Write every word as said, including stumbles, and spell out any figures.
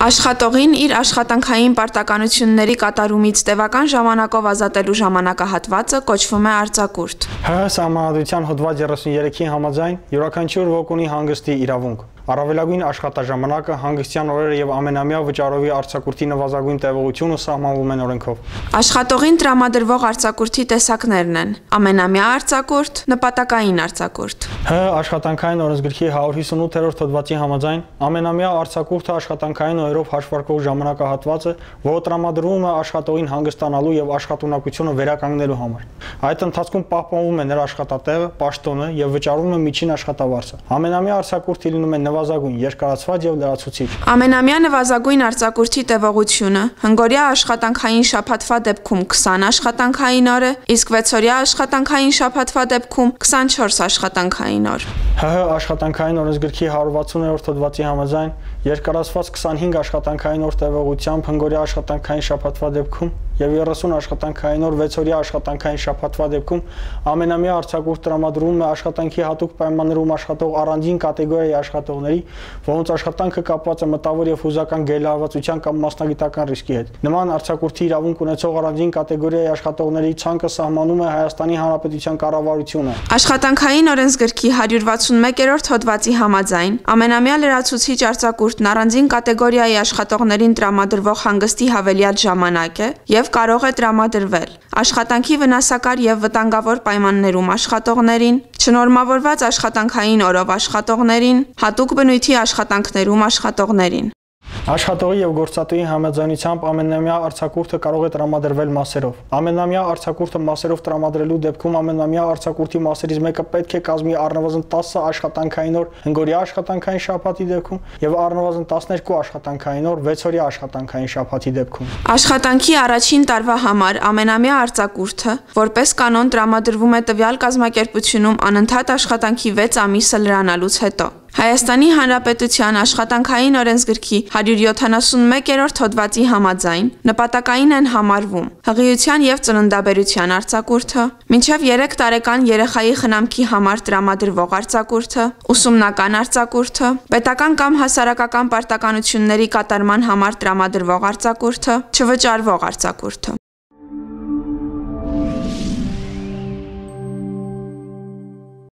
Աշխատողին իր աշխատանքային պարտականությունների կատարումից տևական ժամանակով ազատելու ժամանակահատվածը կոչվում է արձակուրդ։ ՀՀ Սահմանադրության հոդված երեսուններեքի համաձայն յուրաքանչյուր ոք ունի հանգստի իրավունք։ Առավելագույն աշխատաժամանակը, հանգստյան օրերը եւ ամենամյա վճարովի արձակուրդի նվազագույն տևողությունը սահմանվում են օրենքով։ Աշխատողին տրամադրվող արձակուրդի տեսակներն են. ամենամյա արձակուրդ, նպատակային արձակուրդ։ ՀՀ Աշխատանքային օրենսգրքի հարյուր հիսունութերորդ հոդվածի համաձայն ամենամյա արձակուրդը աշխատանքային օրերով հաշվարկվող ժամանակահատվածը, որը տրամադրվում է աշխատողին հանգստանալու եւ աշխատունակությունը վերականգնելու համար։ Այդ ընթացքում պահպանվում է նրա աշխատատեղը, պաշտոնը եւ վճարվում է միջին աշխատավարձը։ Ամենամյա արձակուրդը լինում է նվազագույն, երկարացված եւ լրացուցիչ։ Ամենամյա նվազագույն արձակուրդի տևողությունը հնգօրյա աշխատանքային շաբաթվա դեպքում քսան աշխատանքային օր է, իսկ վեցօրյա աշխատանքային շաբաթվա դեպքում քսանչորս աշխատանքային օր։ ՀՀ Աշխատանքային օրենսգրքի հարյուր վաթսուներորդ հոդվածի համաձայն երկարացված քսանհինգ աշխատանքային օր տևողությամբ հնգօրյա աշխատանքային շաբաթվա դեպքում եւ երեսուն աշխատանքային օր վեցօրյա աշխատանքային շաբաթվա դեպքում ամենամյա արձակուրդ տրամադրվում է աշխատանքի հատուկ պայմաններում աշխատող առանձին կատեգորիայի աշխատողների, որոնց աշխատանքը կապված է մտավոր եւ հուզական գերլարվածության կամ մասնագիտական ռիսկի հետ։ Նման արձակուրդի իրավունք ունեցող առանձին կատեգորիայի աշխատողների ցանկը սահմանում է Հայաստանի Հանրապետության կառավարությունը։ Աշխատանքային օրենսգրքի հարյուր վաթսունմեկերորդ հոդվածի համաձայն ամենամյա լրացուցիչ արձակուրդն առանձին կատեգորիայի աշխատողներին տրամադրվող հանգստի հավելյալ ժամանակ է եւ կարող է տրամադրվել աշխատանքի վնասակար եւ վտանգավոր պայմաններում աշխատողներին, չնորմավորված աշխատանքային օրով աշխատողներին, հատուկ բնույթի աշխատանքներում աշխատողներին։ Աշխատողի եւ գործատուի համաձայնությամբ ամենամյա արձակուրդը կարող է տրամադրվել մասերով։ Ամենամյա արձակուրդը մասերով տրամադրելու դեպքում ամենամյա արձակուրդի մասերից մեկը պետք է կազմի առնվազն տասը աշխատանքային օր հնգօրյա աշխատանքային շաբաթի դեպքում եւ առնվազն տասներկու աշխատանքային օր վեցօրյա աշխատանքային շաբաթի դեպքում։ Աշխատանքի առաջին տարվա համար ամենամյա արձակուրդը որպես կանոն տրամադրվում է տվյալ կազմակերպությունում անընդհատ աշխատանքի վեց ամիսը լրանալուց հետո։ Հայաստանի Հանրապետության աշխատանքային օրենսգրքի հարյուր յոթանասունմեկերորդ հոդվածի համաձայն նպատակային են համարվում հղիության եւ ծննդաբերության արձակուրդը, մինչեւ երեք տարեկան երեխայի խնամքի համար տրամադրվող արձակուրդը, ուսումնական արձակուրդը, պետական կամ հասարակական պարտականությունների կատարման համար տրամադրվող արձակուրդը, չվճարվող արձակուրդը։